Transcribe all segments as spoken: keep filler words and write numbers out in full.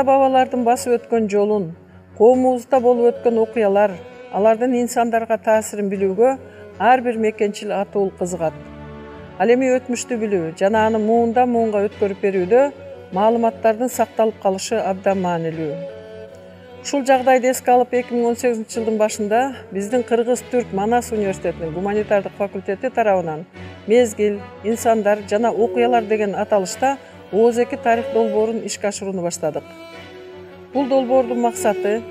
ата-бабалардын басып өткөн жолун, коомубузда болуп өткөн окуялар, алардын инсандарга таасирин билүүгө ар бир мекенчил атуул кызыгат. Ал эми өтмүштү билүү жана аны муундан муунга өткөрүп берүүдө маалыматтардын сакталып калышы абдан маанилүү. Ушул жагдайды эске алып эки миң он сегизинчи жылдын башында биздин Кыргыз-Түрк Манас университетинин гуманитардык факультети тарабынан мезгил, инсандар жана окуялар деген аталышта Ооз эки тарых долбоорун ишке ашырууну баштадык. Бул долбоордун максаты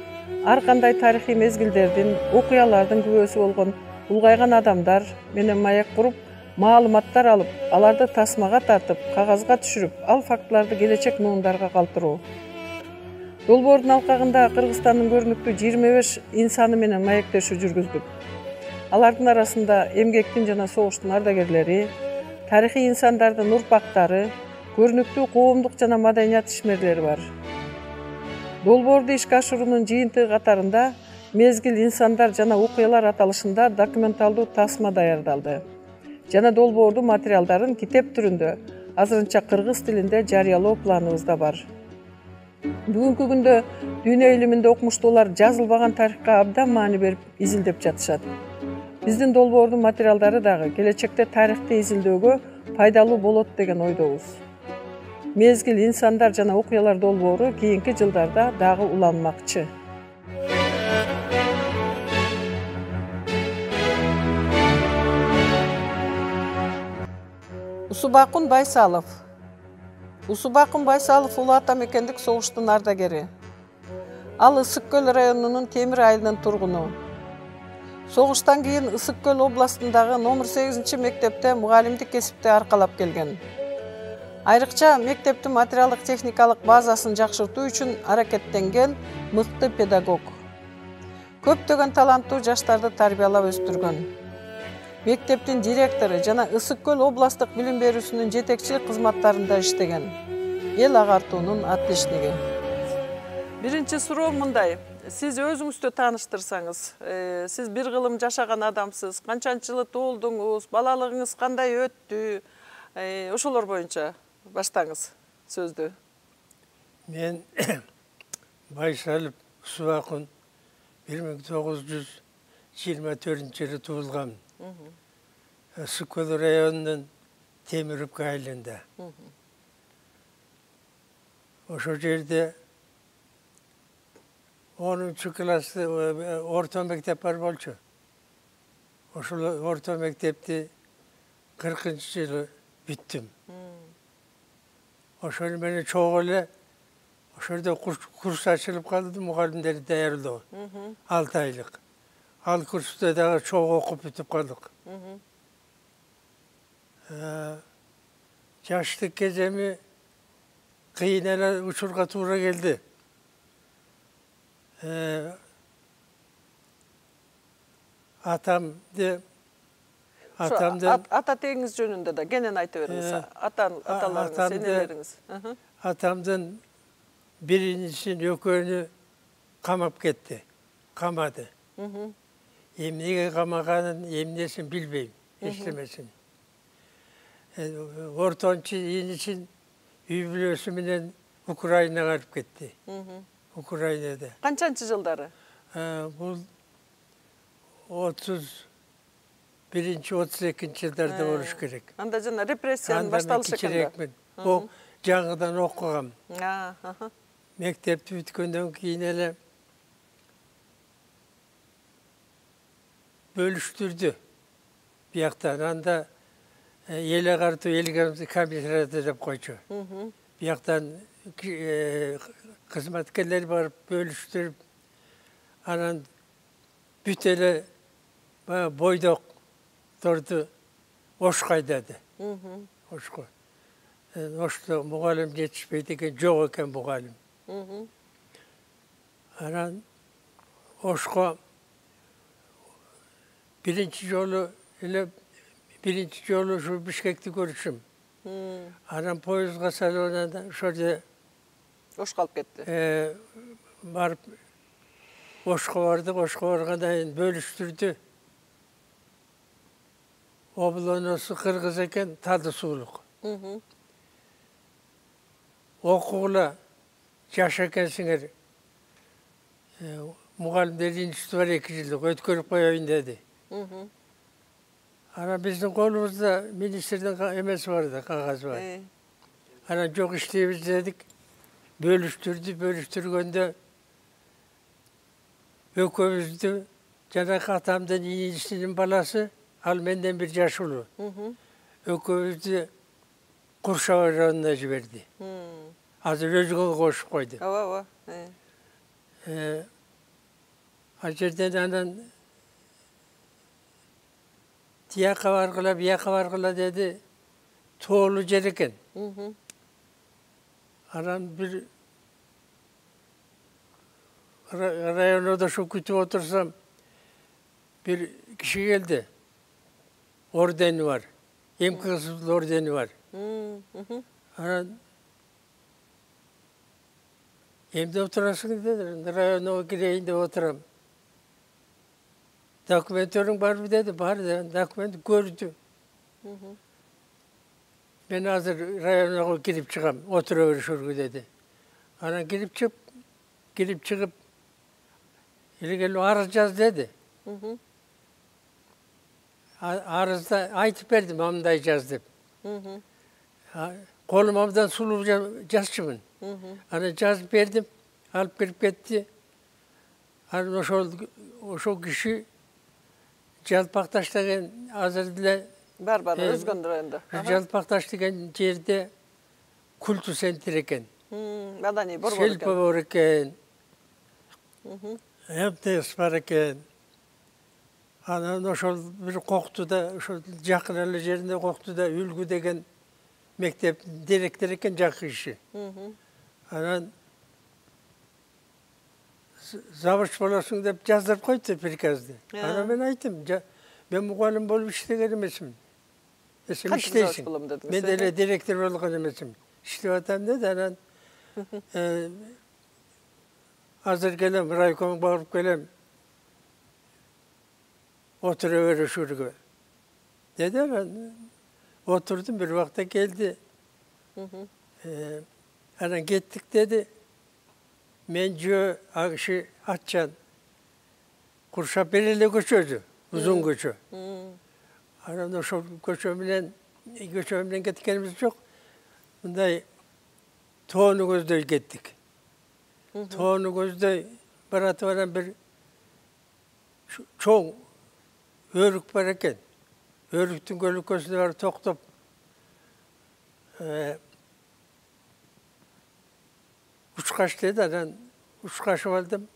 ар кандай тарыхый мезгилдердин, окуялардын күбөсү болгон улгайган адамдар менен маек куруп, маалыматтар алып, аларды тасмага тартып, кагазга түшүрүп, ал фактыларды келечек муундарга калтыруу. Долбоордун алкагында Кыргызстандын көрүнүктүү жыйырма беш инсаны менен маектешүү жүргүздүк. Алардын арасында эмгектин жана согуштун ардагерлери, тарыхый инсандардын урпактары, көрүнүктүү коомдук жана маданият ишмерлери бар. Долбоорду ишке ашыруунун жыйынтыгы катарында мезгил, инсандар жана окуялар аталышында документалдуу тасма даярдалды жана долбоордун материалдарын китеп түрүндө азырынча кыргыз тилинде жарыялоо планыбызда бар. Бүгүнкү күндө дүйнө илиминде окумуштуулар жазылбаган тарыхка абдан маани берип изилдеп жатышат. Биздин долбоордун материалдары дагы келечекте тарыхты изилдөөгө пайдалуу болот деген ойдобуз. Мезгил, инсандар жана окуялар долбоору кийинки жылдарда дагы уланмакчы. Усубакун Байсалов. Усубакун Байсалов улуу ата мекендик согуштун ардагери. Ал Ысык Көл районунун Темир айылынын тургуну. Согуштан кийин Ысык Көл областындагы номер сегизинчи мектепте мугалимдик кесипти аркалап келген. Айрыкча мектептин материалдык техникалык базасын жакшыртуу үчүн аракеттенген мыкты педагог. Көптөгөн таланттуу жаштарды тарбиялап өстүргөн. Мектептин директору жана Ысык Көл областтык билим берүүсүнүн жетекчилик кызматтарында иштеген. Эл агартуунун отличниги. Биринчи суроо мындай. Сиз өзүңүздү тааныштырсаңыз, сиз бир кылым жашаган адамсыз, канчанчы жылы туулдуңуз, балалыгыңыз кандай өттү? Ошолор боюнча баштаңыз сөздү. Мен Байсалов Усубакун бир миң тогуз жүз жыйырма төртүнчү жылы туулгам. Ысык Көл районунун Темирөпкө айылында. Ошол жерде онунчу классы орто мектеп бар болчу. Ошол орто мектепти кыркынчы жылы бүттүм. Ошол менен чогуу эле ошол жерде курс ачылып калды, мугалимдерди даярдоо. алты айлык. Ал курста дагы чогуу окуп бүтүп калдык. Жаштык кеземи кыйын эле учурга туура келди. Атамды атамды ата тегиңиз жөнүндө да кенен айтып бериңиз. Аталарыңыз, энелериңиз. Атамдын биринчисин экөөнү камап кетти. Камады. Эмнеге камаганын, эмнесин билбейм, эчтемесин. Ортончу инисин үй бүлөсү менен Украинага алып кетти. Украинада. Канчанчы жылдары? Бул отуз биринчи отуз экинчи жылдарда болуш керек. Анда жана репрессиянын башталышы экен. О, жаңыдан окугам. Мектепти бүткөндөн кийин эле бөлүштүрдү. Бияктан анда эл агартуу, эл комиссарияты деп койчу. Бияктан кызматкерлер барып бөлүштүрүп, анан бүт эле бойдокторду Ошко айдады. Ошко. Ошто мугалим жетишпейт экен, жок экен мугалим. Анан Ошко биринчи жолу эле биринчи жолу ушу Бишкекти көрүшүм. Анан поездга салонунда ошол жерде Ошко алып кетти. Барып Ошко бардык, Ошко баргандан кийин бөлүштүрдү. Облоносу кыргыз экен, тады суулук. Окугула жаш экенсиңер, мугалимдер институты бар эки жылдык өткөрүп коеюн деди. Анан биздин колубузда министрдин эмеси бар да, кагазы бар. Анан жок иштейбиз дедик. Бөлүштүрдү, бөлүштүргөндө экөөбүздү жанакы атамдын инисинин баласы, ал менден бир жаш улуу. Экөөбүздү Куршаб районуна жиберди. Азыр өзгөгө кошуп койду. Ооба, ооба. Ал жерден анан тияка баргыла, бияка баргыла деди. Тоолуу жер экен. Анан бир районда ошо күтүп отурсам, бир киши келди. Ордени бар. Эмкысыз ордени бар. Анан эмне отурасың деди. Районго кирейин деп отурам. Документтериң барбы деди. Бар деди. Документ көрдү. Мен азыр районго кирип чыгам, отура беришөргү деди. Анан кирип чыгып, кирип чыгып, эле арыз жаз деди. Арызда айтып бердим, мындай жаз деп. Колум абдан сулуу жазчумун. Анан жазып бердим, алып кирип кетти. Анан ошол ошол киши Жалпакташ деген азыр деле бар бар өзгөн районда. Жалпакташ деген жерде культу центр экен. Маданий борбор экен. Селпа бар экен. МТС бар экен. Анан ошол бир Коктуда, ошол жакын эле жеринде Коктуда Үлгү деген мектеп директор экен, жакшы киши. Анан завуч болосуң деп жаздырып койду приказды. Анан мен айттым, мен мугалим болуп иштеген эмесмин. Эсим иштейсиң. Мен деле директор болгон эмесмин. Иштеп атам деди. Анан азыр келем, райкомго барып келем. Отура беришүүргө. Деди. Анан отурдум, бир убакта келди. Анан кеттик деди. Мен жөө агышы атчан. Куршап бир эле көчөдү, узун көчө. Анан ошол көчө менен, көчө менен кеткенибиз жок. Мындай тоону көздөй кеттик. Тоону көздөй баратып анан бир чоң өрүк бар экен. Өрүктүн көлөкөсүнө барып токтоп, учкаш деди. Анан учкашып алдым.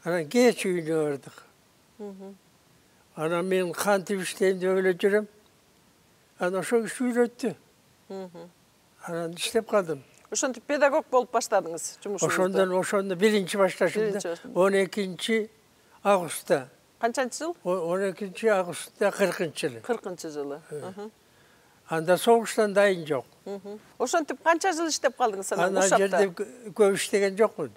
Анан кеч үйүнө бардык. Анан мен кантип иштейм деп эле жүрөм. Анан ошол киши үйрөттү. Анан иштеп калдым. Ошентип педагог болуп баштадыңыз жумушуңузду. Ошондон ошондо биринчи башташым он экинчи августта. Канчанчы жыл? он экинчи августта кыркынчы жылы. кыркынчы жылы. Анда согуштан дайын жок. Ошентип канча жыл иштеп калдыңыз анан Ана жерде көп иштеген жокмун.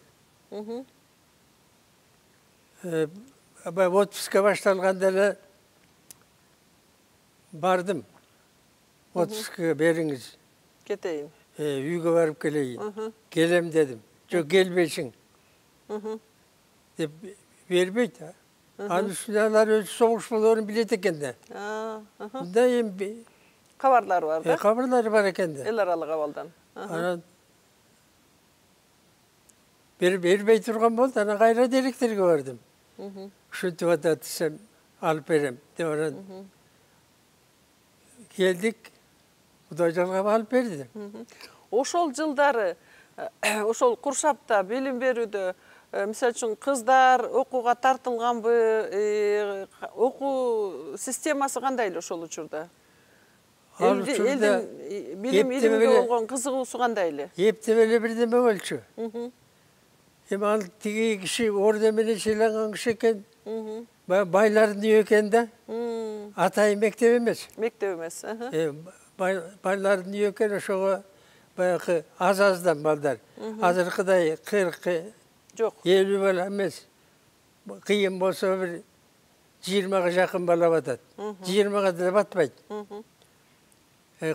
Аба отпуска башталганда эле бардым. Отпускага бериңиз. Кетейин. Үйгө барып келейин. Келем дедим. Жок, келбейсиң. Деп бербейт. Анын үстүнө алар өз согуш болоорун билет экен да. Мында эми кабарлары бар да? Кабарлары бар экен да. Эл аралык абалдан. Анан бербей турган болду. Анан кайра директорго бардым. Ушинтип атат десем, алып берем деп анан келдик. Кудай жалгап алып берди. Ошол жылдары ошол Куршапта билим берүүдө мисалы үчүн кыздар окууга тартылганбы, окуу системасы кандай эле ошол учурда? Элдин билим илимге болгон кызыгуусу кандай эле? Эптеп эле бирдеме болчу. Эми ал тиги киши орден менен сыйланган киши экен. Байлардын үйү экен да. Атайын мектеп эмес. Мектеп эмес. Байлардын үйү экен, ошого баягы аз-аздан балдар. Азыркыдай кырк жок. элүү бала эмес. Кыйын болсо бир жыйырмага жакын бала батат. жыйырмага да батпайт.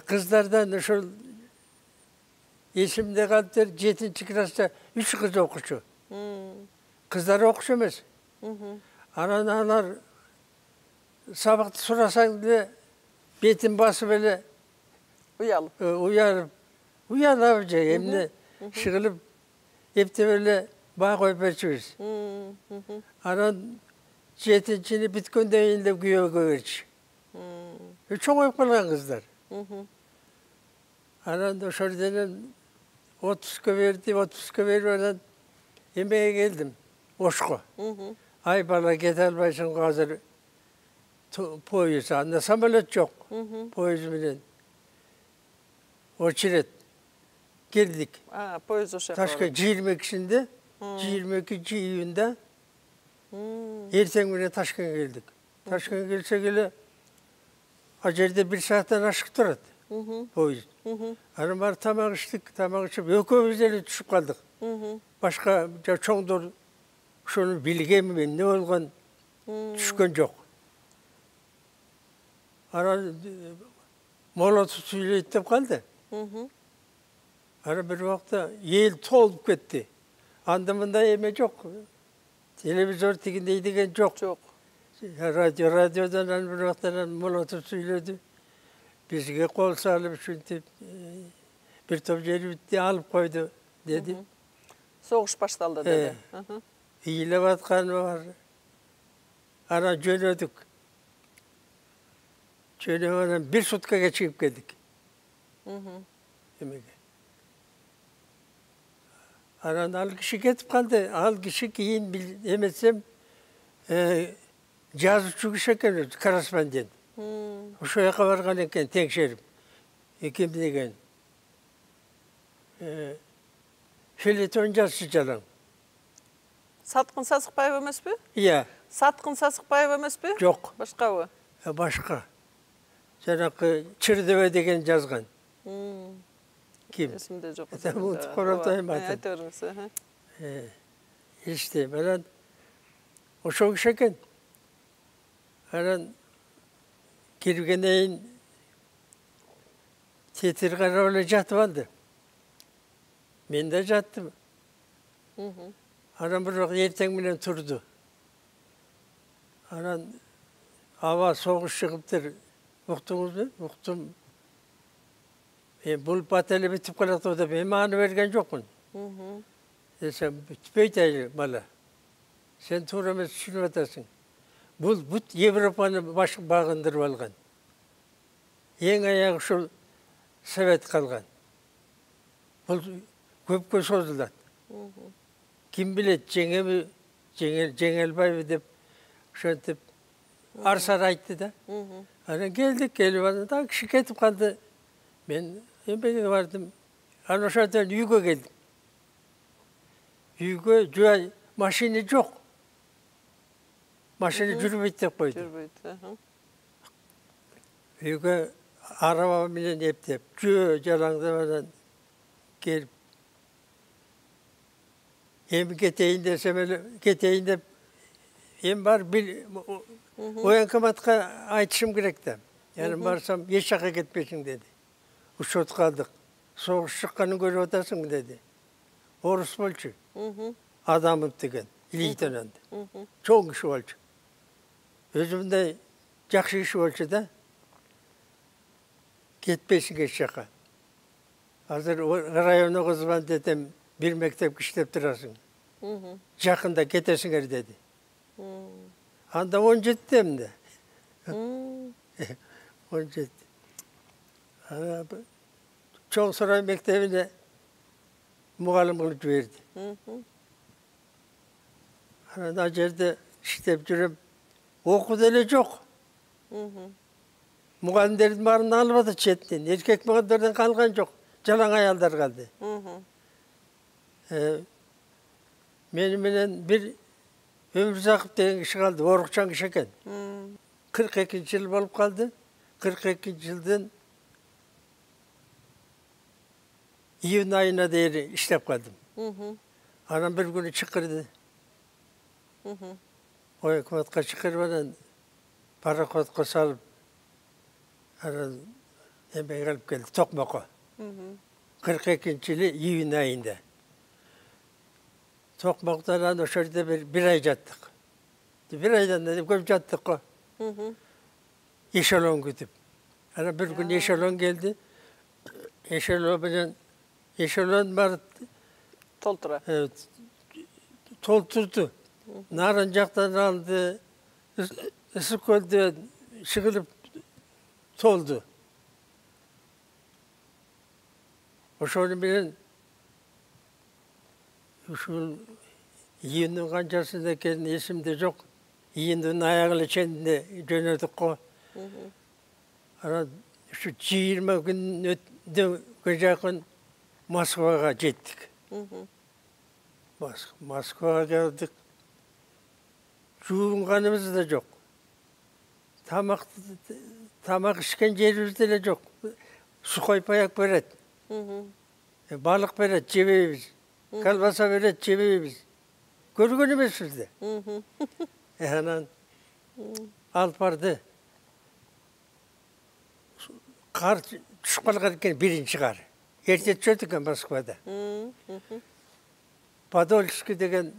Кыздардан ошол Esimde kaldı жетинчи класста üç kız okuşu. Kızlar okuşu emez. Anan anar sabahta sorasan bile betin basıp böyle Uyalıp. uyarıp uyanıp emne şıkılıp hep de böyle bağ koyup açıyoruz. Anan жетинчini bitkönden yılda güye koyuyoruz. Çok oyup kalan kızlar. Anan da şuradan otuzga verdi, otuzga vermeden yemeğe geldim. Oşko. Ay bana git almayısın hazır poyuz. Anda samolet yok. Poyuz bilen. Oçiret. Geldik. Ha, poyuz o şaka. Taşka yirmi ikisinde, yirmi ikinci iyunda erten güne Taşkent'e geldik. Taşkent'e gelse gele acerde bir saatten aşık durad. Poyuz. Anam var tamak içtik, tamak içip ökümüz ele düşüp kaldık. Başka çoğundur şunu bilgem ben ne olgan düşkön yok. Ara mola tutuyla itip kaldı. Ara bir vakta yel tolup gitti. Andımında yeme yok. Televizör tikindeydigen yok. Yok. Radyo, radyodan bir vakta mola tutuyladı. Bizge kol salıp çünkü bir top yeri bitti alıp koydu dedi. Soğuş başladı dedi. İyile batkan var. Ara jönödük. Jönödükten bir sutka geçip geldik. Demek. Aran al kişi ketip kaldı. Al kişi keyin emetsem e, жазуучу киши экен, корреспондент. Ошол жака барган экен текшерип. Ким деген? Филетон жазчу жалаң. Саткын Сасыкбаев эмеспи? Iya. Саткын Сасыкбаев эмеспи? Жок. Башкабы? Башка. Жанакы Чырдебе деген жазган. Ким? Эсимде жок. Унутуп коруп атайм атын. Айта бериңиз. İşte ben o çok şeker. Aran kirgeneyin tetir kararlı jatvandı. Ben de jattım. Aran bir erten bilen turdu. Aran hava soğuk çıkıptır. Uqtunuz mu? Uqtum. E, bul pateli bitip kalaktı da ben mani vergen jokun. Desem bitpeyteyli bala. Sen tuğramı düşünüp atasın. Bu, bu Evropa'nı baş bağındırıp algan. En ayağı şu Sovet kalgan. Bu köpkö sozulат. Kim bilet Cengel Cengel Cengelbay dep şöntüp arsar aytты da. Ana geldik gelip da kişi ketip kaldı. Ben embege vardım. Ana şöntüp uyga geldim. Uyga joy maşini yok. Maşini жүрбөйт деп koydu. Жүрбөйт. Uyga araba bilen eптеп, jö jalаңdamadan gelip hem keteyim desem öyle keteyim de hem var bil o yankamatka aytışım gerek de. Yani barsam hiç şaka gitmesin dedi. Uçot kaldık. Soğuş çıkkanı görüp otasın mı dedi. Orus bolçu. Adamım degen. İliyten çok kişi bolçu. Özümde жақсы kişi bolçu da ketpesin geç şaka. Hazır rayona kızman dedim. Bir mektep işlep durasın. Жақында кетесиңер dedi. Anda on жетtim de. on жетti. Çoğu saray mektebine muğallim kılıp verdi. Ana yerde işlep жүрüp okudu ele yok. Muğallimlerin barını almadı çetten. Erkek muğallimlerden kalgan yok. Jalan ayallar kaldı. Ee, benim bilen bir Ömürzakıp degen kişi kaldı, Orukçan kişi eken. kırk ikinci yıl bolup kaldı. kırk ikinci yıldan iyun ayına değeri işlep kaldım. Anam bir günü çıkırdı. O hükümetka çıkırmadan parakotka salıp emeğe alıp geldi, Tokmak'a. кырк экинчи жылы июнь айында. Токмоктан ошол жерде бир ай жаттык. Бир айдан да көп жаттык го. Эшелон күтүп. Ана бир күн эшелон келди. Эшелон менен эшелон барып толтура. Толтурду. Нарын жактан алды. Ысык көлдөн чыгылып толду. Ошол менен ушул июндун канчасында экени эсимде жок. Июндун аягы эле ченинде жөнөдүк го. Анан ушу жыйырма күн өтүнкө жакын Москвага жеттик. Москвага келдик. Жуунганыбыз да жок. Тамак тамак ишкен жерибиз деле жок. Сухой паяк берет. Балык берет, жебейбиз. Колбаса берет, жебейбиз. Көргөн эмеспиз да. Анан алып барды. Кар түшүп калган экен, биринчи кар. Эрте түшөт экен Москвада. Подольский деген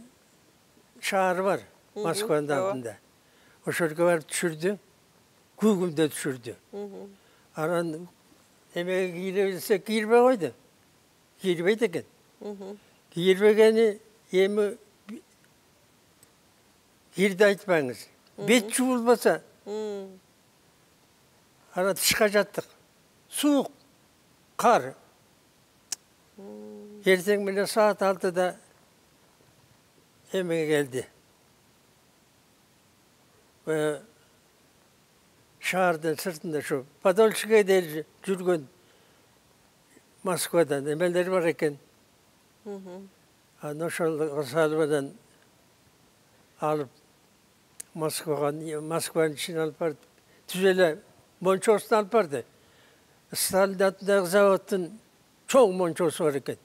шаар бар Москванын алдында. Ошолго барып түшүрдү. Күгүмдө түшүрдү. Анан эмеге кире билсе кийирбей койду. Кийирбейт экен. Кийирбегени эми кирди айтпаңыз. Бет жуулбаса. Анан тышка жаттык. Суук, кар. Эртең менен саат алтыда эмеге келди. Шаардын сыртында шу Подольскийге дейин жүргөн Москвадан эмелер бар экен. Анан ошол салбадан алып Москвага, Москванын ичине алып барып, түз эле мончосун алып барды. Сталин атындагы заводдун чоң мончосу бар экен.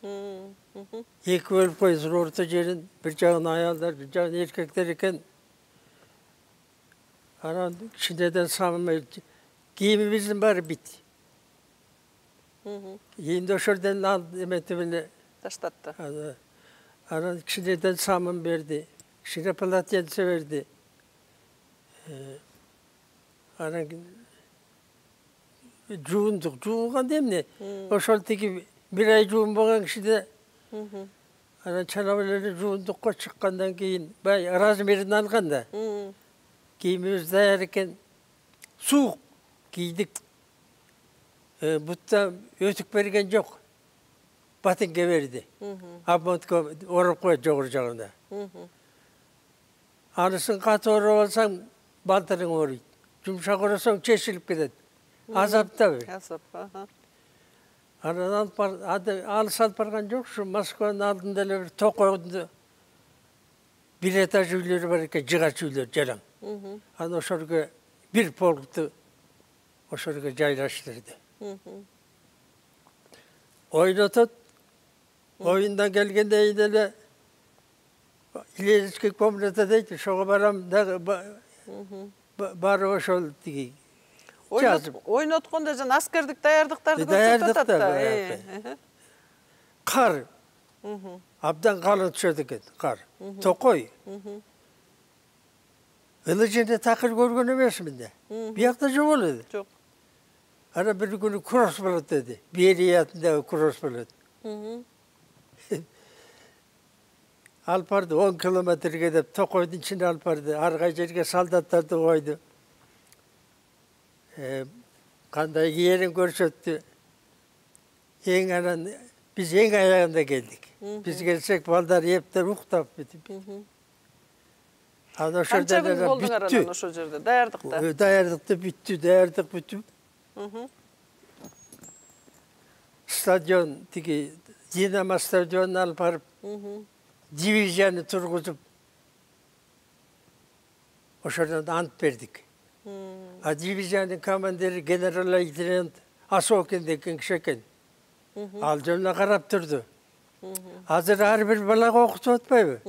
Эки бөлүп койдур орто жерин, бир жагын аялдар, бир жагын эркектер экен. Анан кичинеден самый кийимибиздин баары бит. Эми ошолдон алып эметип эле таштатты. Анан кичинеден самын берди, кичине полотенце берди. Анан жуундук, жууганда эмне? Ошол тиги бир ай жуунбаган кишиде анан чанап эле жуундукка чыккандан кийин бай размерин алганда кийимибиз даяр экен. Суук кийдик. Бутта өтүк берген жок. Батынге берди. Обмотка ороп коет жогору жагында. Анысын каты ороп алсаң балтырың ооруйт. Жумшак оросоң чечилип кетет. Азаптабы. Азап. Анан алыс алып барган жок, ушу Москванын алдында эле бир токойдун бир этаж үйлөрү бар экен, жыгач үйлөр жалаң. Анан ошолго бир полкту ошолго жайлаштырды. Ойнотот. Oyundan gelgende eyleyle ileriki komünete deydi, şoğa baram da bari hoş oldu diye. Oynatkonda jan askerdik dayardıktardı ko'rsatat da. Kar. Abdan kalın düşödü eкен, kar. Tokoy. Ilıcında takır görgün emesmin de. Bir yakta çok oluyordu. Çok. Ana bir günü cross bulut dedi. Bir yeri yatında cross bulut. Alып барды, он километрге деп токойдун ичине алып барды. Арга жерге солдаттарды койду. Кандай жерин көрсөттү. Эң анан биз эң аягында келдик. Биз келсек балдар эптер уктап бүтүп. Анан ошол жерде бүттү. Ошол жерде даярдыкта. Даярдыкты бүттү, даярдык бүтүп. Стадион тиги Динамо стадионуна алып барып дивизияны тургузуп ошодон ант бердик. А дивизиянын командири генерал-лейтенант Асокин деген киши экен. Ал жөнүнө карап турду. Азыр ар бир балага окутуп атпайбы?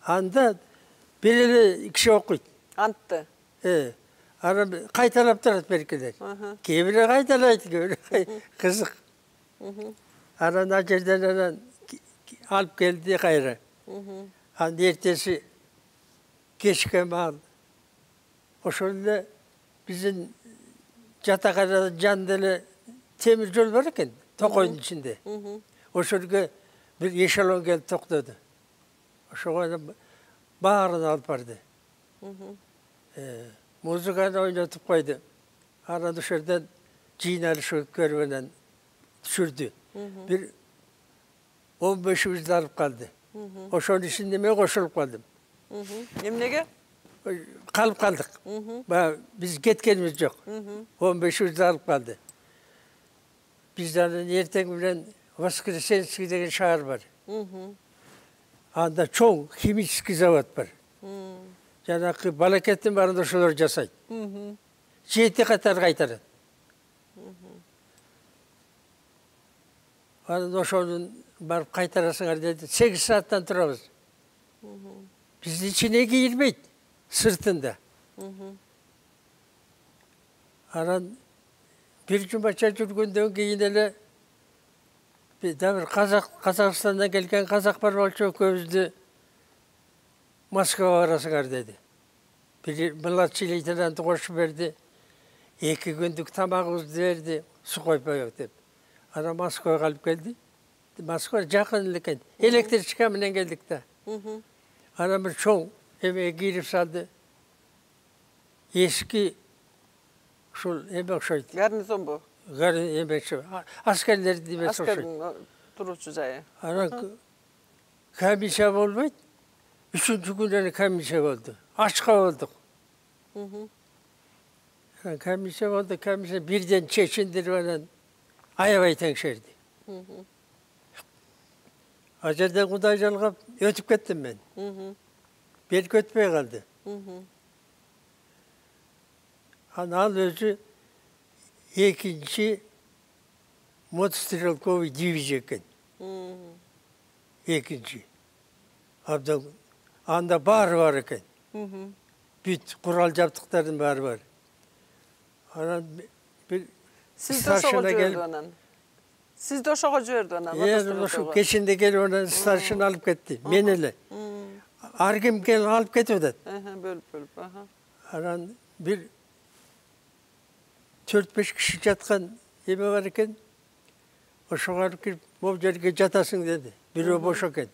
Анда бир эле киши окуйт. Антты. Э, аны кайталап турат беркелер. Кээ бири кайталайт, кээ бири кызык. Анан ал жерден анан алып келди кайра. Анан эртеси кечке маал ошол эле биздин жатакананын жанында эле темир жол бар экен, токойдун ичинде. Ошол жерге бир эшелон келип токтоду. Ошого баарын алып барды. Музыканы ойнотуп койду. Анан ошол жерден жыйналыш көрүп түшүрдү. Бир он бешибизди алып калды. Ошонун ичинде мен кошулуп калдым. Эмнеге? Калып калдык. Баягы биз кеткенибиз жок. он бешибизди алып калды. Биз анан эртең менен Воскресенский деген шаар бар. Анда чоң химический завод бар. Жанакы балакеттин баарын ошолор жасайт. Жети катар кайтарат. Анан ошонун барып кайтарасыңар деди. сегиз сааттан турабыз. Биздин ичине кирбейт, сыртында. Анан бир жумача жүргөндөн кийин эле да бир казак Казакстандан келген казак бар болчу, экөөбүздү Москвага барасыңар деди. Бир младший лейтенанты кошуп берди. Эки күндүк тамагыбызды берди, суу койпойбук деп. Анан Москвага алып келди. Москва жакын эле экен. Электричка менен келдик да. Анан бир чоң эмеге кирип салды. Эски ушул эме окшойт. Гарнизонбу? Эмечи, аскерлердин эмеси окшойт. Аскердин туруучу жайы. Анан комиссия болбойт. Үчүнчү күнү эле комиссия болду. Ачка болдук. Анан комиссия болду, комиссия бирден чечиндирип анан аябай теңшерди. А жерден Кудай жалгап өтүп кеттим мен. Белги өтпөй калды. Анан ал өзү экинчи мотострелковый дивизия экен. Экинчи. Абдан анда баары бар экен. Бүт курал жабдыктардын баары бар. Анан бир Сиз да ошого жиберди анан. Сиз да ошого жиберди анан. Э, ошо кечинде келип анан старшина алып кетти. Мен эле. Ар ким келип алып кетип атат. Бөлүп бөлүп. Анан бир төрт беш киши жаткан эме бар экен. Ошого алып кирип, могу жерге жатасың деди. Бирөө бош экен.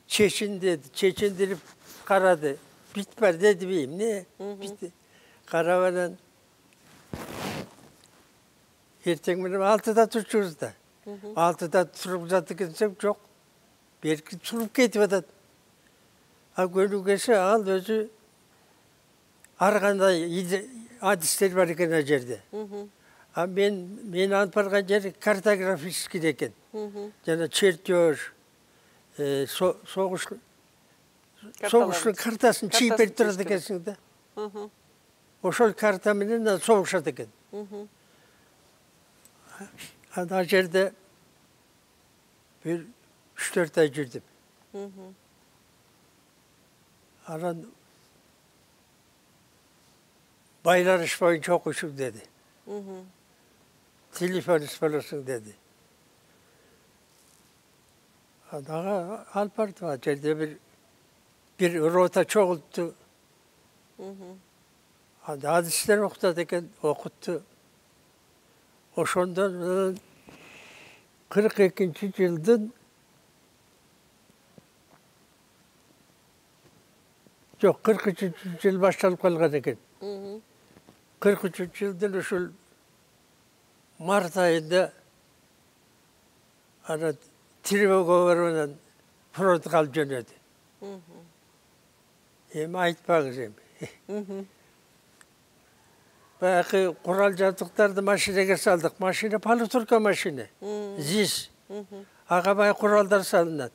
Чечин деди, чечиндирип карады. Бит бар деди би, эмне? Бит. Карап анан эртең менен алтыда турчубуз да. алтыда туруп жатты десем, жок. Берки туруп кетип атат. А көнүгөсү ал өзү ар кандай адистер бар экен ал жерде. А мен мен алып барган жери картографический экен. Жана чертеж, согуш согуштун картасын чийип берип турат экенсиң да. Ошол карта менен согушат экен. Ана жерде бир үч төрт ай жүрдүм. Анан байланыш боюнча окуйсуң деди. Телефонист болосуң деди. Ага алып барды, ал жерде бир бир рота чогултту. Анда адистер окутат экен, окутту. Ошондон кырк экинчи жылдын жок, кырк үчүнчү жыл башталып калган экен. кырк үчүнчү жылдын ушул март айында ана тревога менен фронтко алып жөнөдү. Эми айтпаңыз эми. Баягы курал жабдыктарды машинеге салдык. Машина полутурка машина. ЗИС. Ага баягы куралдар салынат.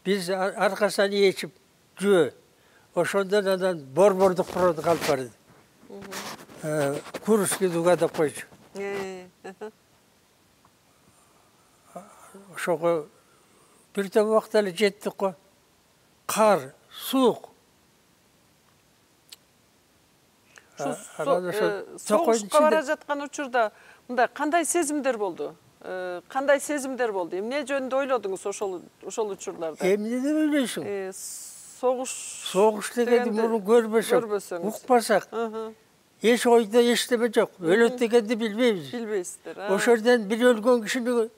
Биз аркасынан ээчип жөө. Ошондон анан борбордук фронтко алып барды. Курский дуга деп койчу. Ошого бир топ убакыт эле жеттик го. Кар, суук. Согушка бара жаткан учурда мындай кандай сезимдер болду? кандай сезимдер болду? Эмне жөнүндө ойлодуңуз ошол ошол учурларда? Эмнеден ойлойсуң? Согуш Согуш дегенди муну көрбөсөк, укпасак, эч ойдо эчтеме жок. Өлөт дегенди билбейбиз. Билбейсиздер. Ошол жерден бир өлгөн кишини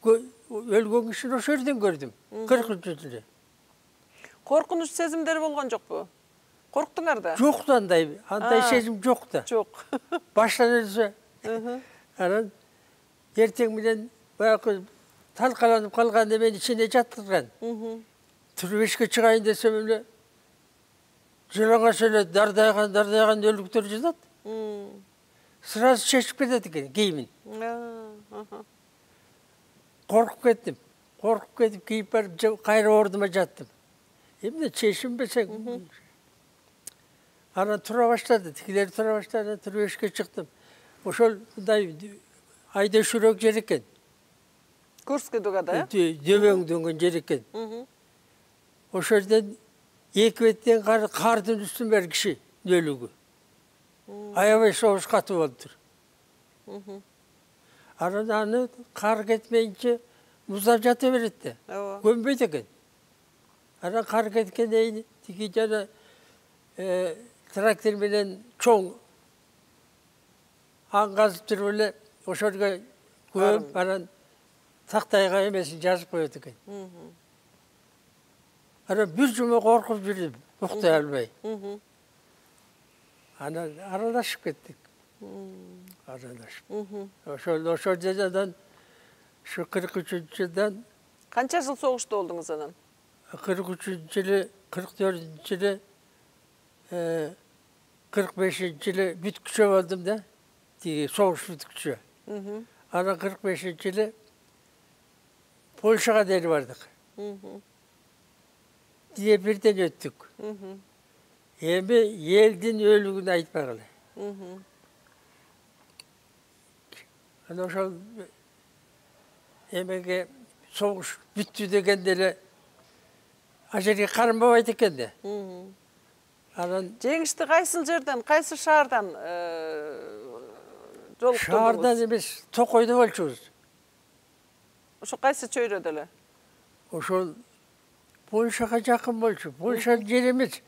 өлгөн кишини ошол жерден көрдүм. кыркынчы жылы. Коркунуч сезимдер болгон жокпу? Корктуңар да? Жок да андай, андай сезим жок да. Жок. Баштан эле. Анан эртең менен баягы талкаланып калган эмени ичине жаткырган. Туруп эшикке чыгайын десем эле жылаңач эле дардайган, дардайган өлүктөр жатат. Сразу чечип кетет экен кийимин. Коркуп кеттим. Коркуп кетип кийип барып кайра ордума жаттым. Эмне чечинбесең. Анан тура баштады, тигилер тура баштады, туруп эшикке чыктым. Ошол мындай айда-шүрөк жер экен. Курский дугада, э? Дөбөң дөнгөн жер экен. Ошол жерден эки беттен кардын үстүн бери киши өлүгү. Аябай согуш катуу болуптур. Анан аны кар кетмейинче муздап жата берет да. Көнбөйт экен. Анан кар кеткенден тиги жана трактор менен чоң аң казып туруп эле ошол жерге көмүп, анан тактайга эмесин жазып коет экен. Анан бир жума коркуп жүрдүм, уктай албай. Анан аралашып кеттик. Аралашып. Ошол ошол жерден ушу кырк үчүнчү жылдан канча жыл согушта болдуңуз анан? кырк үчүнчү жылы, кырк төртүнчү жылы, кырк бешинчи жылы бүткүчө болдум да. Тиги согуш бүткүчө. Анан кырк бешинчи жылы Польшага дери бардык. Днепрден өттүк. Эми элдин өлүгүн айтпагыла. Анан ошол эмеге согуш бүттү дегенде эле а жерге карынбабайт экен да. Анан жеңишти кайсыл жерден, кайсы шаардан жолуктуңуз? Шаардан эмес, Токойдо болчубуз. Ошо кайсы чөйрөдө эле? Ошол Польшага жакын болчу. Польша жери эмес.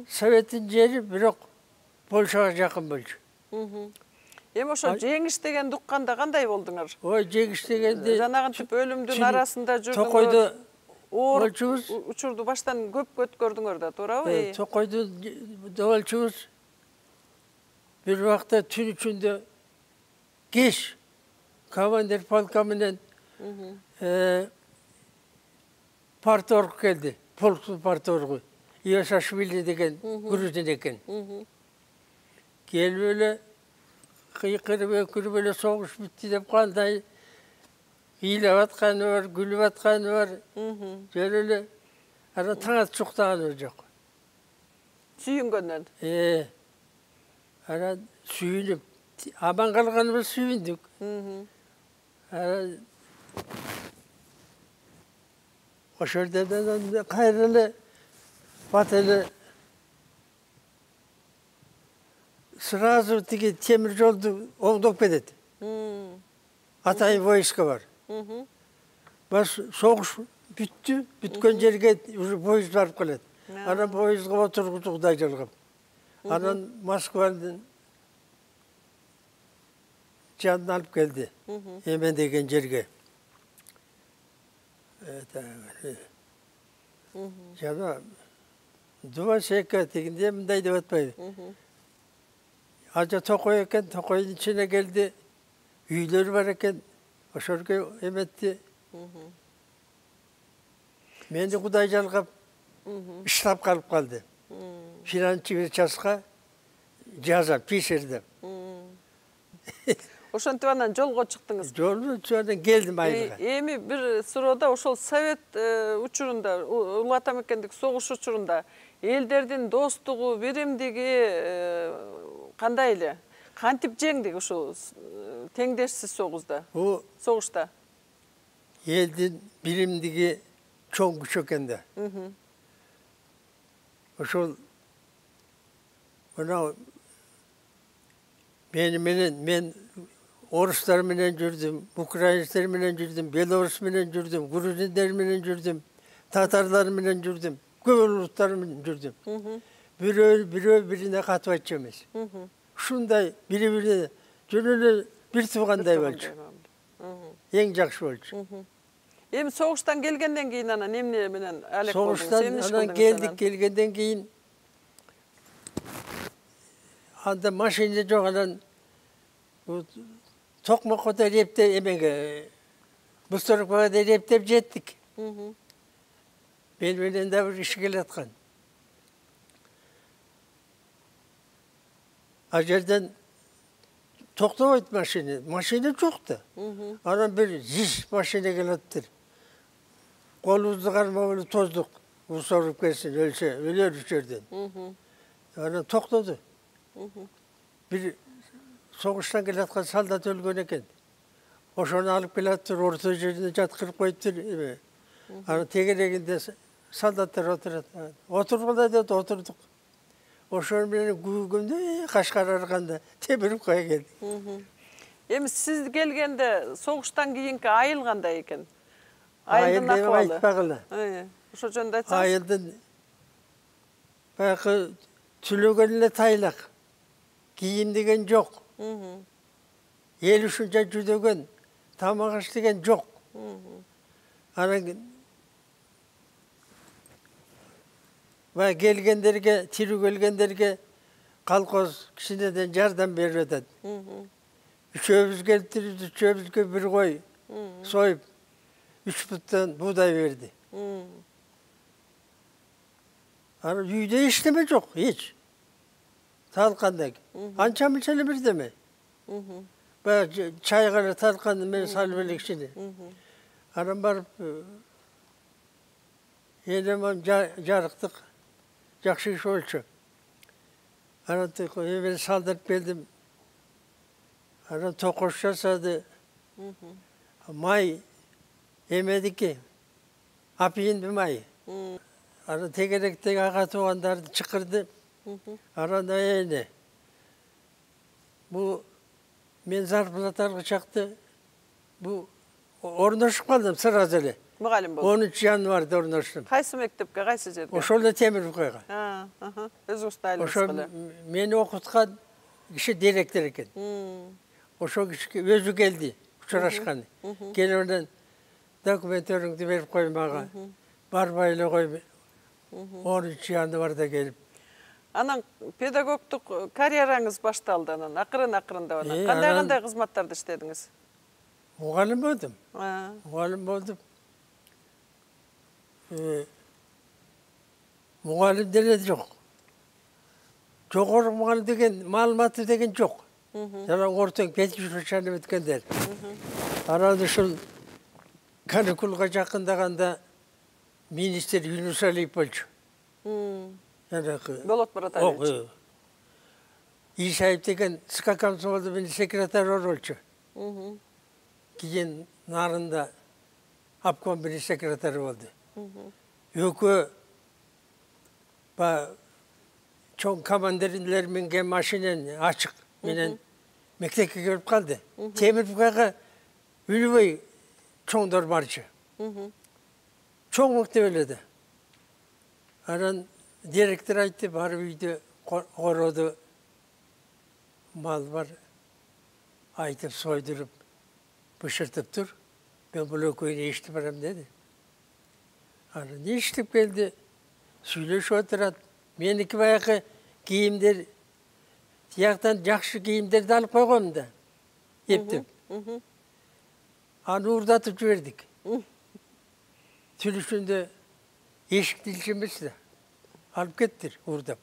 Советтин жери, бирок Польшага жакын болчу. Эми ошо жеңиш дегенди укканда кандай болдуңар? Ой, жеңиш дегенди жанагынтип өлүмдүн арасында жүрдүңөр. Токойдо оор учурду баштан көп көткөрдүңөр да, туурабы? Токойдо болчубуз. Бир убакта түн ичинде кеч командир полка менен парторг келди. Полктун парторгу. Ивашашвили деген грузин экен. Келип эле кыйкырып өкүрүп эле согуш бүттү деп кандай ыйлап атканы бар, күлүп атканы бар. Жөн эле анан таң атып уктаганы жок. Сүйүнгөндөн. Э. Анан сүйүнүп, аман калганыбыз сүйүндүк. Анан ошол жерден кайра эле бат эле сразу тиги темир жолду оңдоп кетет. Атайын войска бар. Баш согуш бүттү, бүткөн жерге уже поезд барып келет. Анан поездга отургузуп Кудай жалгап. Анан Москвадан жанын алып келди. Эмен деген жерге. Жана Дубасека дегенде мындай деп атпайбы. Ажа Токой экен, Токойдун ичине келди. Үйлөр бар экен. Ошолго эметти. Мени Кудай жалгап иштап калып калды. Финансчы частка жаза пишерди. Ошентип анан жолго чыктыңыз. Жолго чыгып келдим айылга. Эми бир суроода ошол совет учурунда, Улуу Ата мекендик согуш учурунда элдердин достугу, биримдиги кандай эле? Кантип жеңдик ушул теңдешсиз согузда? Согушта. Элдин биримдиги чоң күч экен да. Ошол мына мени менен мен орустар менен жүрдүм, украинецтер менен жүрдүм, белорус менен жүрдүм, грузиндер менен жүрдүм, татарлар менен жүрдүм, көп улуттар менен жүрдүм. Бирөө бирөө бирине катып айтчу эмес. Ушундай бири-бирине жөн эле бир туугандай болчу. Эң жакшы болчу. Эми согуштан келгенден кийин анан эмне менен алек болдуңуз? Согуштан анан келдик, келгенден кийин анда машина жок, анан Токмокко да рептеп эмеге Бузторукпага да рептеп жеттик. Мен менен да бир иш келаткан. А жерден токтобойт машина, машина жок да. Анан бир жиш машина келаттыр. Колубузду кармап эле тоздук. Бузторуп келсин, өлсө, өлөр үч жерден. Анан токтоду. Бир согуштан келаткан солдат өлгөн экен. Ошону алып келаттыр, орто жерине жаткырып коюптур эме. Анан тегерегинде солдаттар отурат. Отургула деп отурдук. Ошол менен күйгөндө Кашкар арканда темирип кое келди. Эми сиз келгенде согуштан кийинки айыл кандай экен? Айылдын акыбалы айтпагыла. Ошо жөнүндө айтсаңыз. Айылдын баягы түлөгөн эле тайлак. Кийим деген жок. Эл ушунча жүдөгөн, тамак аш деген жок. Анан баягы келгендерге, тирүү келгендерге колхоз кичинеден жардам берип атат. Үчөөбүз келиптирбиз, үчөөбүзгө бир кой союп, үч буттан буудай берди. Анан үйдө эчтеме жок, эч. Талкандак. Анча мынча эле бирдеме. Баягы чайга эле талканды мен салып эле кичине. Анан барып энем жарыктык жакшы иш болчу. Анан эме салдырып келдим. Анан токош жасады. Май эмедики. Апийинди май. Анан тегеректеги ага туугандарды чакырды. Анан эне. Бу мен зарплата алгычакты бу орношуп калдым сразу эле. Мугалим болду. онунчу январда орноштум. Кайсы мектепке, кайсы жерге? Ошол эле Темирбукайга. Өзүңүз тайлап Ошо мени окуткан киши директор экен. Ошо киши өзү келди, учурашкан. Келип анан документтериңди берип кой мага. Барбай эле кой. онунчу январда келип. Анан педагогдук карьераңыз башталды анан акырын-акырындап анан. Кандай-кандай кызматтарды иштедиңиз? Мугалим болдум. Мугалим болдум. Мугалим деле жок. Жогору мугалим деген маалыматы деген жок. Жана ортоң педучилищени бүткөндөр. Анан ушул каникулга жакындаганда министр Юнус Алиев болчу. Болот Буратаевич. Исаев деген СК комсомолдун секретары болчу. Кийин нарында обком бир секретары болду. Экөө ба чоң командирлер минген машинени ачык менен мектепке келип калды. Темирбукайга үлбөй чоңдор барчу. Чоң мектеп эле да. Анан директор айтты, барып үйдө короду мал бар, айтып сойдуруп, бышыртып тур. Мен бул экөөнү эчтип барам деди. Анан эчтип келди, сүйлөшүп отурат. Меники баягы кийимдер, тияктан жакшы кийимдерди алып койгом да, эптеп. Аны уурдатып жибердик. Түлүшүндө эшикти илчемес да. Алып кеттир, уурдап.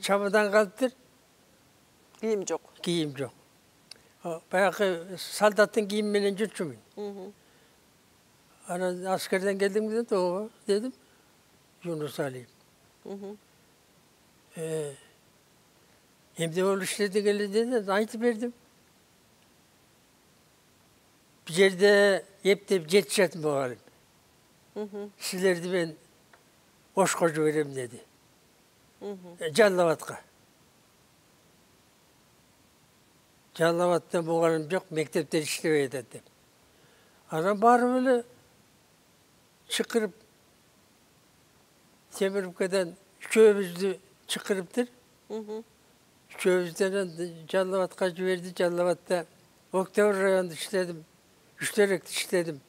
Чамадан калыптыр. Кийим жок. Кийим жок. Баягы солдаттын кийими менен жүрчүмүн. Анан аскерден келдиңби деди, ооба дедим. Юнус Алиев. Эмне болуп иштедиң эле деди, айтып бердим. Бир жерде эптеп жетишет мугалим. Силерди мен Ошко жиберем деди. Жалал Абадка. Жалал Абадта мугалим жок, мектептер иштебей атат деп. Анан барып эле чакырып Темировкадан үчөөбүздү чакырыптыр. Үчөөбүздөн Жалал Абадка жиберди. Жалал Абадта Октябрь районунда иштедим. Үчтөрөктө иштедим.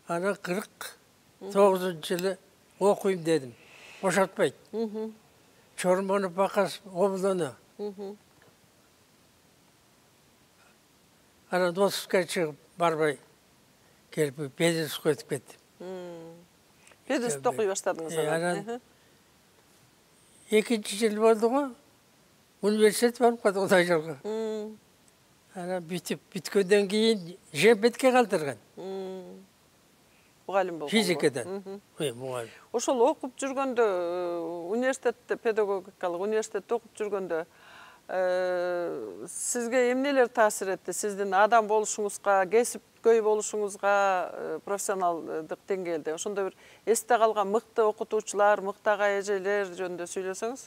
Анан кырк тогузунчу жылы окуйм дедим. Бошотпойт. Чормонов Бакас облону. Анан отузга чыгып барбай келип Педерске өтүп кеттим. Педерсте окуй баштадыңыз анан. Экинчи жыл болду го. Университет барып калдым Кудай жолго. Анан бүтүп бүткөндөн кийин Жемпетке калтырган. Мугалим болгон. Физикадан. Ой, мугалим. Ошол окуп жүргөндө, университетте, педагогикалык университетте окуп жүргөндө сизге эмнелер таасир этти? Сиздин адам болушуңузга, кесипкөй болушуңузга, профессионалдык деңгээлде ошондой бир эсте калган мыкты окутуучулар, мыкты ага эжелер жөнүндө сүйлөсөңүз?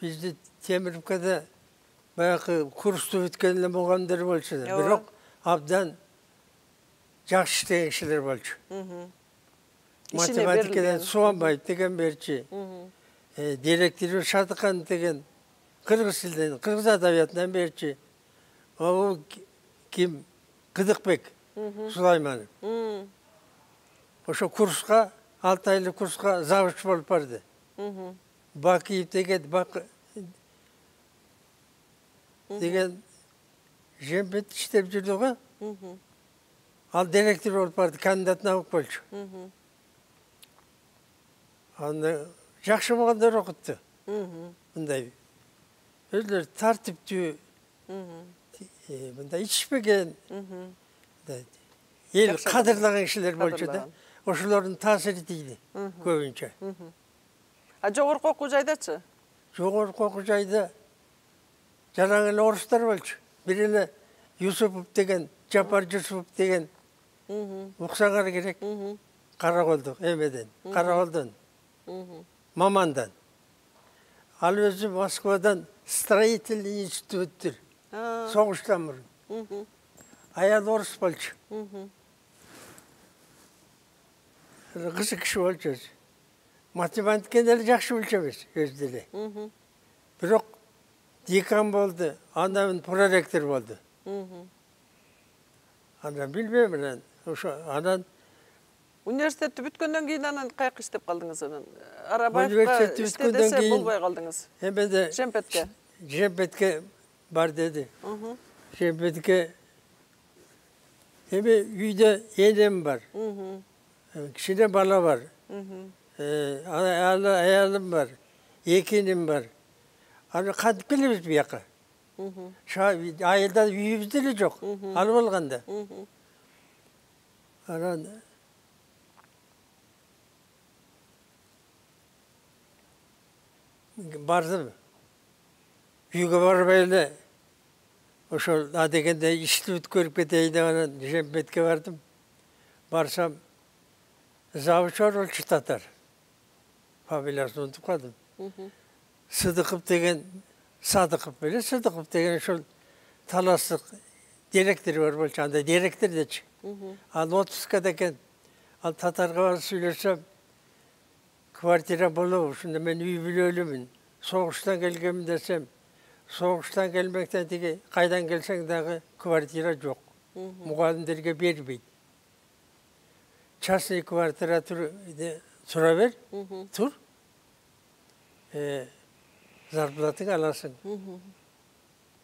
Бизди Темировкада баягы курсту бүткөн эле мугалимдер болчу. Бирок абдан жакшы иштеген кишилер болчу. Математикадан Суанбаев деген берчи. Директор Шадыкан деген кыргыз тилинен, кыргыз адабиятынан берчи. Ал ким? Кыдыкбек Сулайманов. Ошо курска, алты айлык курска завуч болуп барды. Бакиев деген деген Жемпет иштеп жүрдү го. Ал директор болуп барды, кандидат наук болчу. Аны жакшы мугалимдер окутту. Мындай өзлөр тартиптүү, мындай ичпеген, эл кадырлаган кишилер болчу да. Ошолордун таасири тийди көбүнчө. А жогорку окуу жайдачы? Жогорку окуу жайда жаран эле орустар болчу. Бир эле Юсупов деген, Жапар Юсупов деген уксаңар керек. Караколдо эмеден, Караколдон, Мамандан. Ал өзү Москвадан строительный институттур. Согуштан мурун. Аял орус болчу. Кызык киши болчу. Математиканы эле жакшы билчү эмес өзү эле. Бирок декан болду, андан проректор болду. Андан билбейм анан, ошо анан университетти бүткөндөн кийин анан каяка иштеп калдыңыз анан? Арабаевка иште десе болбой калдыңыз. Эмеде Жемпетке. Жемпетке бар деди. Жемпетке эми үйдө энем бар. Кичине бала бар. Аялым бар. Эки иним бар. Аны кантип келебиз бияка? Айылда үйүбүз деле жок. Ал болгондо. Анан бардым. Үйгө барбай эле ошол адегенде ишти бүткөрүп кетейин деп анан Жемпетке бардым. Барсам завуч болчу татар. Фамилиясын унутуп калдым. Сыдыков деген, Садыков беле Сыдыков деген ошол таластык директор бар болчу, анда директор дечи. Ал отпускада экен. Ал татарга барып сүйлөсөм, квартира болобу, ушунда мен үй бүлөлүмүн. Согуштан келгенмин десем, согуштан келмектен тиги кайдан келсең дагы квартира жок. Мугалимдерге бербейт. Частный квартира тура бер, тур. Зарплатың аласың.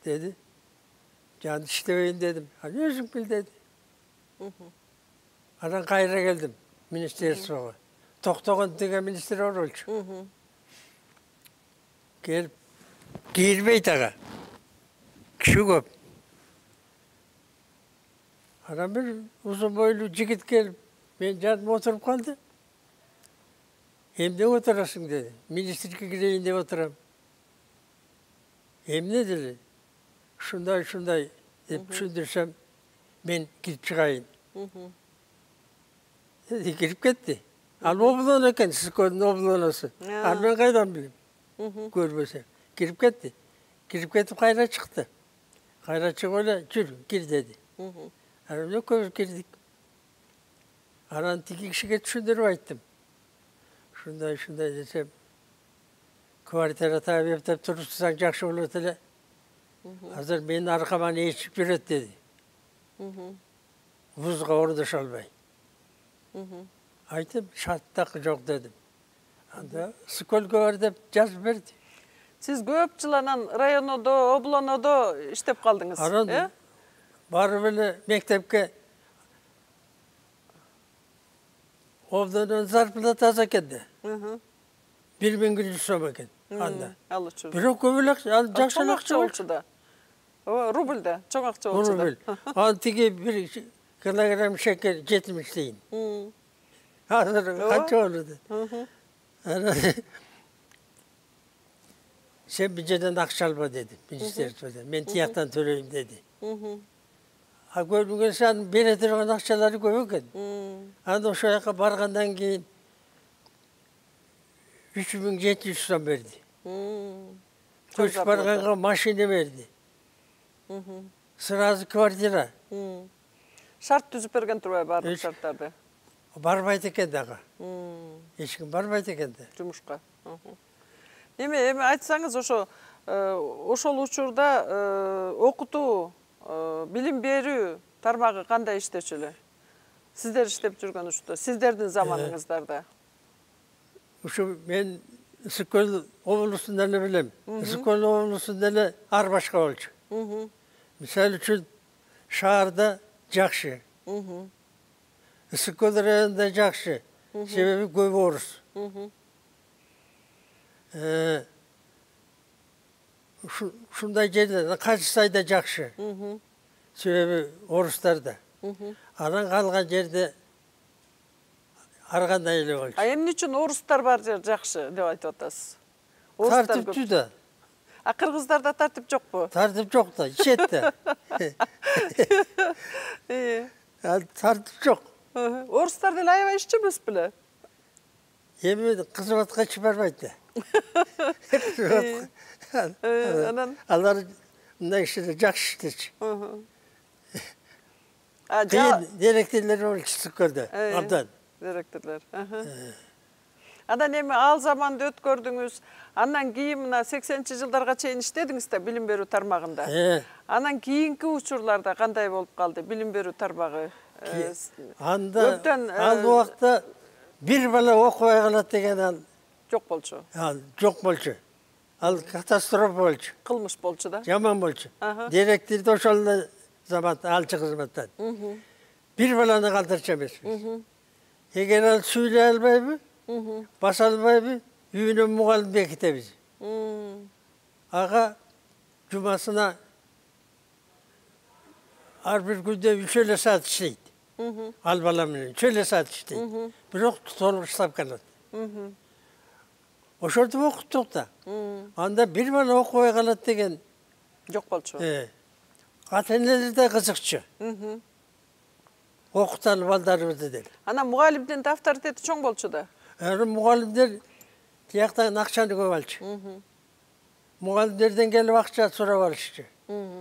Деди. Жан иштебейин дедим. Аны өзүң бил деди. Анан кайра келдим министерствого. Токтогон деген министр бар болчу. Келип кийилбейт ага. Киши көп. Анан бир узун бойлуу жигит келип, мен жаныма отуруп калды. Эмне отурасың деди. Министрге кирейин деп отурам. Эмне деди. Ушундай, ушундай деп түшүндүрсөм, мен кирип чыгайын. Деди, кирип кетти. Ал облоно экен, Сыскоодун облоносу. Ал мен кайдан билем? Көрбөсөм. Кирип кетти. Кирип кетип кайра чыкты. кайра чыгып эле жүр кир деди. Анан экөөбүз кирдик. Анан тиги кишиге түшүндүрүп айттым. Ушундай ушундай десем, квартира таап эптеп турсаң жакшы болот эле. Азыр менин аркаман ээрчип жүрөт деди. Вузга ордоша албай. Айтып, шарт так жок дедим. Анда сколько бар деп жазып берди. Сиз көп жыл анан районодо, облонодо иштеп калдыңыз, э? Барып эле мектепке обдонун зарплатасы экен да. бир миң жүз сом экен анда. Ал үчүн. Бирок көп эле акча, ал жакшы акча болчу да. Ооба, рубль да, чоң акча болчу да. Ал тиги бир килограмм шекер жетимиш тыйын. Азыр канча болду? Анан сен бюджеттен акча алба деди, министерстводон. Мен тияктан төлөйм деди. А көрүнгөн сан бере турган акчалары көп экен. Анда ошол жака баргандан кийин үч миң жети жүз сом берди. Көчүп барганга машина берди. Сразу квартира. Шарт түзүп берген турбайбы баардык шарттарды? Барбайт экен дагы. Эч ким барбайт экен да. Жумушка. Эми эми айтсаңыз, ошо ошол учурда окутуу, билим берүү тармагы кандай иштечү эле? Сиздер иштеп жүргөн учурда, сиздердин заманыңыздарда. Ушу мен Ысык-Көл облусунда эле билем. Ысык-Көл облусунда эле ар башка болчу. Мисалы үчүн шаарда жакшы. Ысык-Көл районунда жакшы. Себеби көп орус. Ушундай жерде Качысайда жакшы. Себеби орустар да. Анан калган жерде ар кандай эле болчу. А эмне үчүн орустар бар жер жакшы деп айтып атасыз? Тартиптүү да. А кыргыздарда тартип жокпу? Тартип жок да, ичет да. Ал тартип жок. Орустар деле аябай ишчи эмес беле? Эми кызматка чыгарбайт да. Анан алар мындай ишти жакшы иштечү. Кыйын директорлор болчу Ысык-Көлдө, абдан. Директорлор. Анан эми ал заманды өткөрдүңүз. Андан кийин мына сексенинчи жылдарга чейин иштедиңиз да билим берүү тармагында. Анан кийинки учурларда кандай болуп калды билим берүү тармагы? Анда ал убакта бир бала окубай калат деген ал жок болчу. Ал жок болчу. Ал катастрофа болчу. Кылмыш болчу да. Жаман болчу. Директор да ошол эле заматта алчы кызматтан. Бир баланы калтырчу эмеспиз. Эгер ал сүйлөй албайбы, баса албайбы, үйүнө мугалим бекитебиз. Ага жумасына ар бир күндө үч эле саат иштейт. Ал бала менен үч эле саат иштейт. Бирок толук ставка алат. Ошентип окуттук да. Анда бир бала окубай калат деген жок болчу. Ата-энелер да кызыкчу. Окуталы балдарыбызды деп. Анан мугалимдин да авторитети чоң болчу да. Мугалимдер тияктан акчаны көп алчу. Мугалимдерден келип акча сурап алышчу.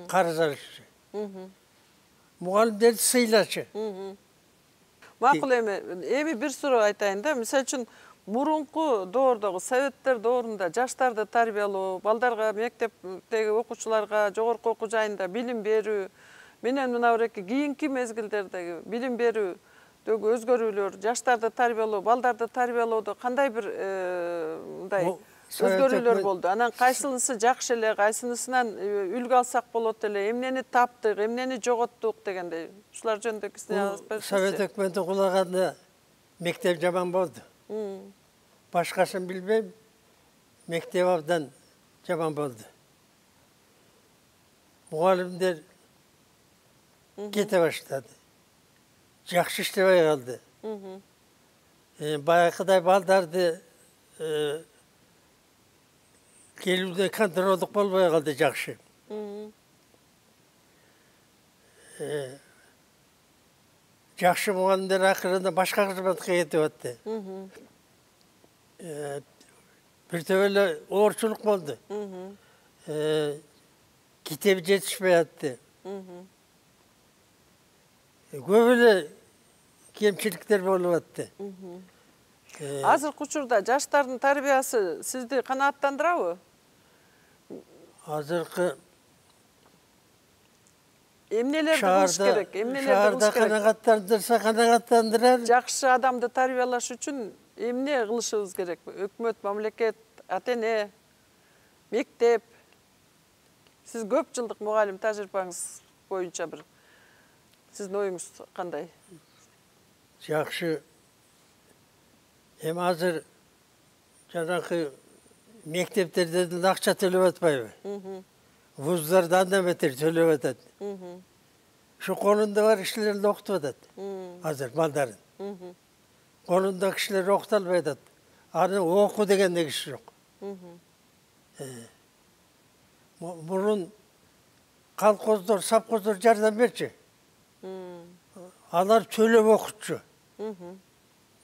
Карыз алышчу. Мугалимдерди сыйлачу. Макул эми, эми бир суроо айтайын да. Мисалы үчүн мурунку доордогу советтер доорунда жаштарды тарбиялоо, балдарга, мектептеги окуучуларга, жогорку окуу жайында билим берүү менен мына бирки кийинки мезгилдердеги билим берүүдөгү өзгөрүүлөр, жаштарды тарбиялоо, балдарды тарбиялоодо кандай бир мындай өзгөрүүлөр болду? Анан кайсынысы жакшы эле, кайсынысынан үлгү алсак болот эле, эмнени таптык, эмнени жоготтук дегендей. Ушулар жөнүндө кичине алып берсеңиз. Совет өкмөтү кулаганда мектеп жаман болду. Башкасын билбейм, мектеп абдан жаман болду. Мугалимдер кете баштады. Жакшы иштебей калды. Баягыдай балдарды келүүдө контролдук болбой калды жакшы. Жакшы мугалимдер акырында башка кызматка кетип атты. Бир төбөлө оорчулук болду. китеби жетишпей атты. Көп эле кемчиликтер болуп атты. Азыркы учурда жаштардын тарбиясы сизди канааттандырабы? Азыркы эмнелерди кылыш керек? Эмнелерди шаарда кылыш керек? канааттандырса канааттандырар. Жакшы адамды тарбиялаш үчүн эмне кылышыбыз керек? Өкмөт, мамлекет, ата-эне, мектеп. Сиз көп жылдык мугалим тажрыйбаңыз боюнча бир сиздин оюңуз кандай? Жакшы. Эми азыр жанакы мектептерде деле акча төлөп атпайбы? Вуздарда андан бетер төлөп атат. Ушу колунда бар кишилерди окутуп атат. Азыр балдарын. Колунда кишилер окута албай атат. Аны оку дегенде киши жок. Мурун колхоздор, совхоздор жардам берчү. Алар төлөп окутчу.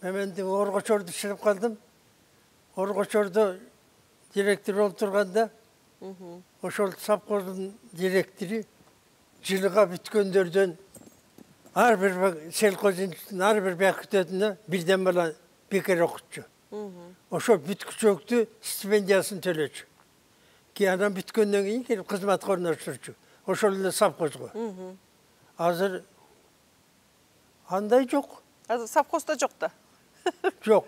Мен Оргочордо чыгып калдым. Оргочордо директор болуп турганда, ошол совхоздун директору жылга бүткөндөрдөн ар бир сельхозинституттун ар бир бекитетине бирден бала бекер окутчу. Ошол бүткүчөктү стипендиясын төлөчү. Ки анан бүткөндөн кийин келип кызматка орноштурчу. Ошол эле совхозго. Азыр андай жок. Азыр совхозда жок да. Жок.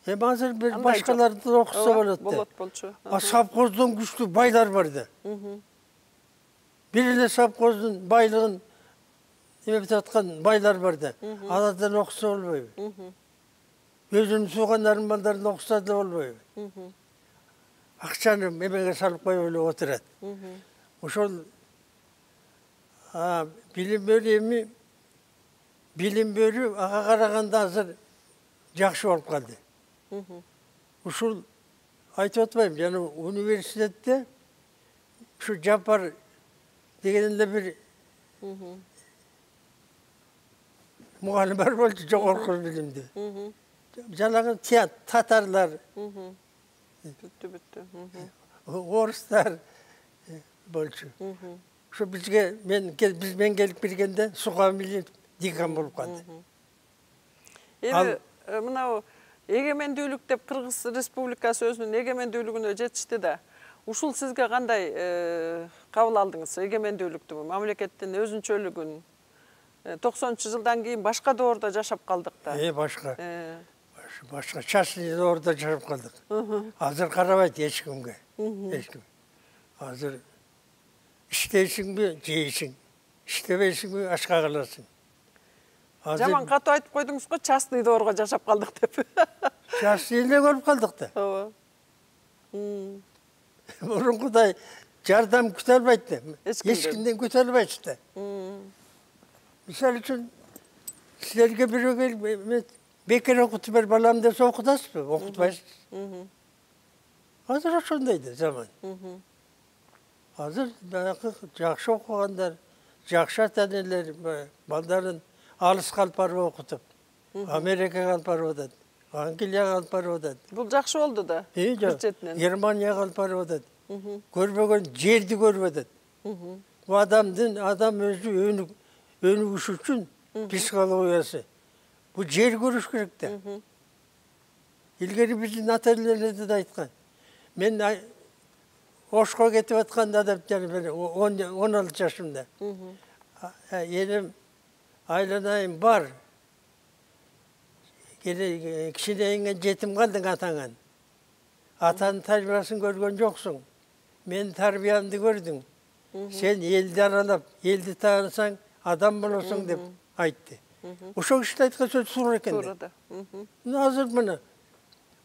Эми азыр бир башкаларды окуса болот да. Болот болчу. А совхоздон күчтүү байлар бар да. Бир эле совхоздун байлыгын эметип аткан байлар бар да. Алардан окуса болбойбу? Өзүнүн суугандарынын балдарын окуса да болбойбу? Акчаны эмеге салып коюп эле отурат. Ошол билим берүү эми билим берүү ага караганда азыр жакшы болуп калды. Ушул айтып атпайм, жана университетте ушу Жапар деген эле бир мугалим бар болчу, жогорку билимдүү. Жанагы татарлар, бүттү бүттү. орустар болчу. Ушу бизге мен биз мен келип киргенде Сухамили декан болуп калды. Эми мынау эгемендүүлүк деп Кыргыз Республикасы өзүнүн эгемендүүлүгүнө жетишти да. Ушул сизге кандай кабыл алдыңыз эгемендүүлүктү, мамлекеттин өзүнчөлүгүн? токсонунчу жылдан кийин башка доордо жашап калдык да. Э, башка. Башка частный доордо жашап калдык. Азыр карабайт эч кимге. Эч ким. Азыр иштейсиңби, жейсиң. Иштебейсиңби, ашка каласың. Жаман катуу айтып койдуңуз го, частный доорго жашап калдык деп. Частный эле болуп калдык да. Ооба. Мурункудай жардам күтө албайт да. Эч кимден күтө албайсыз да. Мисалы үчүн силерге бирөө келип бекер окутуп бер балам десе окутасызбы? Окутпайсыз. Азыр ошондой да заман. Азыр баягы жакшы окугандар, жакшы ата-энелер балдарын алыска алып барып окутуп, Америкага алып барып атат, Англияга алып барып атат. Бул жакшы болду да. Бир четинен. Германияга алып барып атат. Көрбөгөн жерди көрүп атат. Бул адамдын адам өзү өнүгүш үчүн психологиясы. Бул жер көрүш керек да. Илгери биздин ата-энелер да айткан. Мен Ошко кетип атканда да он алты жашымда. Энем айланайын бар. Кичинейиңен жетим калдың атаңан. Атанын тарбиясын көргөн жоксуң. Мен тарбиямды көрдүң. Сен элди аралап, элди таанысаң, адам болосуң деп айтты. Ошол киши айткан сөз туура экен. Туура да. Азыр мына.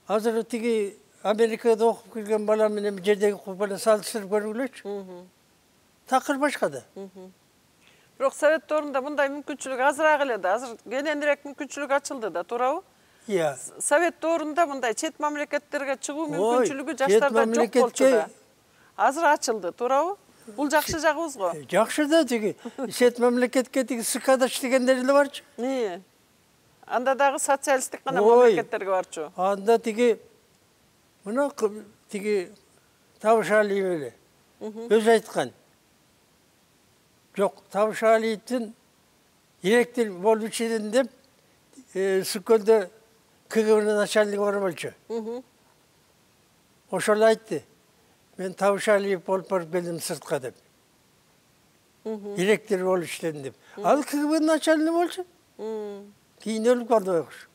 Азыр тиги Америкада окуп келген бала менен жердеги бала салыштырып көргүлөчү. Такыр башка да. Бирок Совет доорунда мындай мүмкүнчүлүк азыраак эле да. Азыр кененирээк мүмкүнчүлүк ачылды да, туурабы? Iya. Совет доорунда мындай чет мамлекеттерге чыгуу мүмкүнчүлүгү жаштарда жок болчу да. Азыр ачылды, туурабы? Бул жакшы жагыбыз го. Жакшы да, тиги чет мамлекетке тиги СКда иштегендер эле барчу. Ии. Анда дагы социалисттик гана мамлекеттерге барчу. Анда тиги мына тиги Табыш Алиев эле өзү айткан. Жок, Табышалиевдин директор болуп едим деп, Сүккөндө КГБ начальниги бар болчу. Ошол айтты. Мен Табышалиев болуп барып келдим сыртка деп. Директор болуп иштедим деп. Ал КГБ начальниги болчу. Кийин өлүп калды байкуш.